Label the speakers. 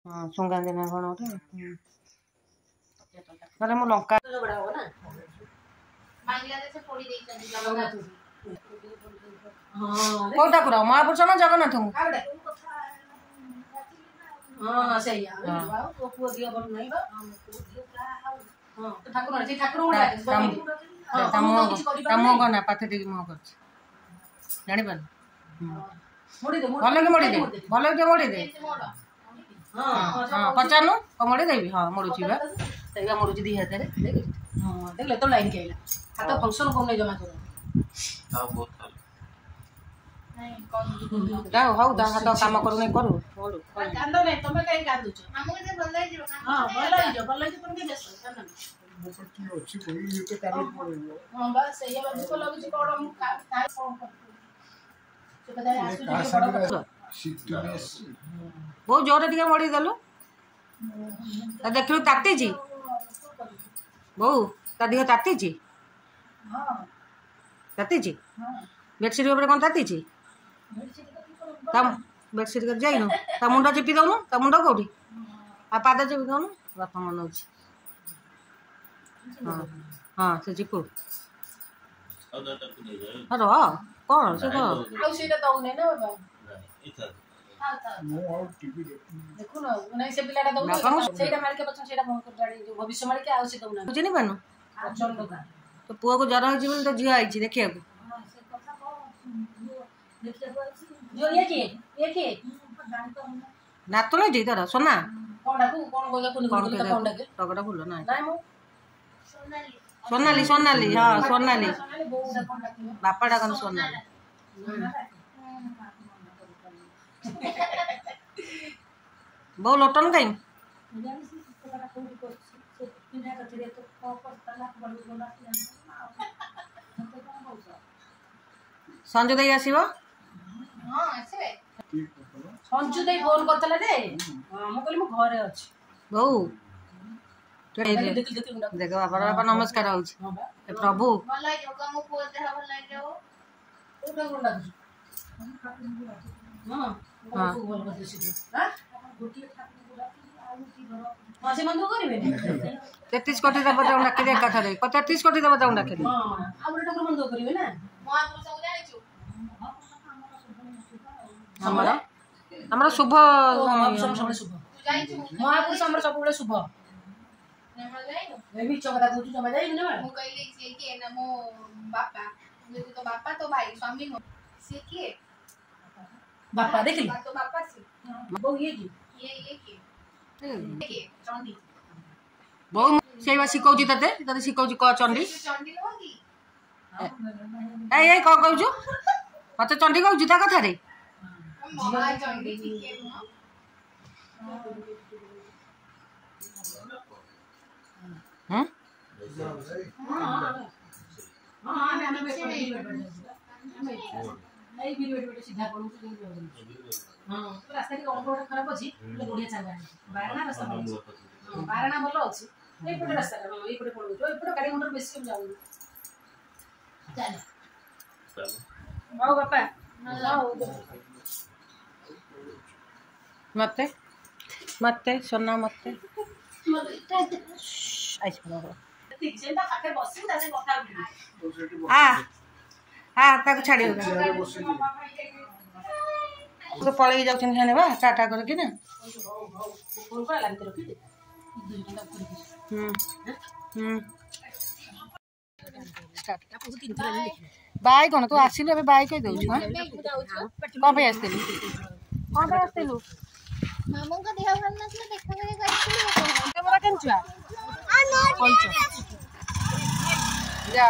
Speaker 1: ହଁ, ଶୁଙ୍ଗାନ୍ତି ନା କଣ ଗୋଟେ। ନହେଲେ ମୁଁ ଲଙ୍କା କୋଉ ଠାକୁର, ମହାପୁରୁଷ ନା ଜଗନ୍ନାଥଙ୍କୁ? ତା ମୁହଁ କନା ପାଥ ଟିକେ ମୁହଁ କରୁଛି, ଜାଣିପାରିଲୁ? ଭଲ କି ମୋଡ଼ିଦେ, ଭଲ କି ମୋଡ଼ିଦେ। ହଁ, ପଚାରୁନୁ, ମୋଡ଼ି ଦେବି। ହଁ, ମୋଡ଼ୁଛି ବା, ସେଇଆ ମୋଡ଼ୁଛି ଦି ହାତରେ।
Speaker 2: ହଁ, ଦେଖିଲେ ତ ଲାଇନ୍ କି ଆଇଲା। ହାତ ଫଙ୍କସନ୍ କରୁନି ଜମା ତୋର।
Speaker 1: ଯାଉ ହଉ, ତା ହାତ କାମ କରୁନି, କରୁ।
Speaker 2: କାନ୍ଦ ନାଇଁ, ତମେ କାହିଁ କାନ୍ଦୁଛ? ହଁ, ଭଲ ହେଇଯିବ, ଭଲ ହେଇଯିବ, ତମେ ବ୍ୟସ୍ତ। ହଁ ବା, ସେଇଆ ବା ଦୁଃଖ ଲାଗୁଛି। କଣ ମୁଁ କଣ
Speaker 1: ବହୁତ ଜୋରରେ ଟିକେ ମଡେଇ ଦେଲୁ। ଦେଖିଲୁ ତାତିଛି ବୋଉ, ତା ଦେହ ତାତିଛି, ତାତିଛି। ବେଡସିଟ୍ ଉପରେ କ'ଣ ତାତିଛି? ତା ବେଡସିଟ୍ କରି ଯାଇନୁ? ତା ମୁଣ୍ଡ ଚିପି ଦଉନୁ, ତା ମୁଣ୍ଡ କୋଉଠି? ଆଉ ପାଦ ଚିପି ଦଉନୁ। ବାପା ମନଉଛି। ହଁ ହଁ, ସେ ଚିପୁ ରହ। କ'ଣ ସେ କ'ଣ
Speaker 2: ଆଉ ସେଇଟା ଦଉନି ନା ବାବା? ଦେଖୁନ, ନାଇଁ, ସେ ପିଲାଟା ଦଉନି ସେଇଟା। ମାଳିକା ପଛନ ସେଇଟା ବନ୍ଦ କରିଦେଲାଣି, ଯୋଉ ଭବିଷ୍ୟ ମାଳିକା, ଆଉ ସେ ଦଉନାହାନ୍ତି।
Speaker 1: ଚିହ୍ନି ପାରୁନୁ? ତୋ ପୁଅକୁ ଜର ହେଇଛି ବୋଲି ତୋ ଝିଅ ଆଇଛି ଦେଖିବାକୁ।
Speaker 2: ଇଏ କିଏ? ଇଏ କିଏ?
Speaker 1: ନାତୁଣୀ ତୋର ସୋନା।
Speaker 2: କଣ ଡାକୁ? କଣ କହିଲା?
Speaker 1: ଟଗଟା ଫୁଲ ନା? ସୋନାଲି, ସୋନାଲି। ହଁ, ସୋନାଲି। ବାପା ଡାକନ୍ତି ସୋନାଲି। ବୋଉ, ଲୋଟନ କାଇଁ? ସଞ୍ଜୁ ଦେଇ ଆସିବ?
Speaker 2: ସଞ୍ଜୁ ଦେଇ ଫୋନ କରିଥିଲା ଯେ ମୁଁ କହିଲି ମୁଁ ଘରେ ଅଛି।
Speaker 1: ବୋଉ, ଦେଖ, ବାପା, ବାପା ନମସ୍କାର ହଉଛି। ଏ ପ୍ରଭୁ, ହଁ, 33 କୋଟି ଦେବତାଙ୍କୁ ଡାକିଦେ ଏକାଥରେ। 33 କୋଟି ଦେବତାଙ୍କୁ ଡାକିଦେ। ଆମର ଶୁଭ।
Speaker 2: ମହାପୁରୁଷ ଆମର ସବୁବେଳେ ଶୁଭ। ମିଛ କଥା କହୁଛୁ, ଜମା ଯାଇନୁ।
Speaker 3: ମୁଁ କହିଲି ସିଏ କିଏ ନା ମୋ ବାପା। ତୋ ବାପା ତୋ ଭାଇ, ସ୍ୱାମୀ ନୁହଁ। ସିଏ କିଏ?
Speaker 2: ବାପା। ଦେଖିଲି
Speaker 3: ତୋ ବାପା ସିଏ।
Speaker 2: ବୋଉ, ଇଏ କିଏ?
Speaker 3: ଇଏ କିଏ? କିଏ? ଚଣ୍ଡୀ।
Speaker 1: ବୋଉ, ସେଇ ବା ଶିଖଉଛି ତତେ, ତତେ ଶିଖଉଛି। କହ ଚଣ୍ଡୀ।
Speaker 3: ଚଣ୍ଡୀ ନୁହଁ କି?
Speaker 1: ଏଇ ଏଇ, କଣ କହୁଛୁ? ମତେ ଚଣ୍ଡୀ କହୁଛୁ ତା କଥାରେ?
Speaker 3: ମହାଚଣ୍ଡୀ ଟିକେ ନୁହଁ।
Speaker 1: ହୁଁ,
Speaker 2: ସିଧା ହଁ, ରାସ୍ତା ଟିକେ ଅଳ୍ପ ଗୋଟେ ଖରାପ ଅଛି, ବଢିଆ ଚାଙ୍ଗା। ବାରଣା ରାସ୍ତା ଭଲ ଅଛି। ହଁ, ବାରଣା ଭଲ ଅଛି ଏଇପଟେ ରାସ୍ତାଟା। ହଁ, ଏଇପଟେ ପଳଉଛୁ, ଏପଟେ ଗାଡି ମଟର ବେଶୀ ଯାଉନି। ଚାଲ, ହଉ ବାପା, ହଉ।
Speaker 1: ମତେ, ମତେ ସୋନା, ମତେ ଆ ଆ, ତାକୁ ଛାଡ଼ିବ ତ ପଳେଇ ଯାଉଛନ୍ତି ସେମାନେ ବା, ଟାଟା କରିକି ନା। ହୁଁ ହୁଁ, ବାଇ କ'ଣ? ତୁ ଆସିଲୁ ଏବେ ବାଇ କହି ଦଉଛୁ? ହଁ, କ'ଣ ପାଇଁ ଆସିଥିଲୁ? କ'ଣ ପାଇଁ ଆସିଥିଲୁ?
Speaker 3: ମାମୁଙ୍କ ଦେହ ଭଲ ନଥିଲା, ଦେଖା କରିବାକୁ ଆସିଥିଲି।
Speaker 1: କେମିତି ଛୁଆ? ଯା।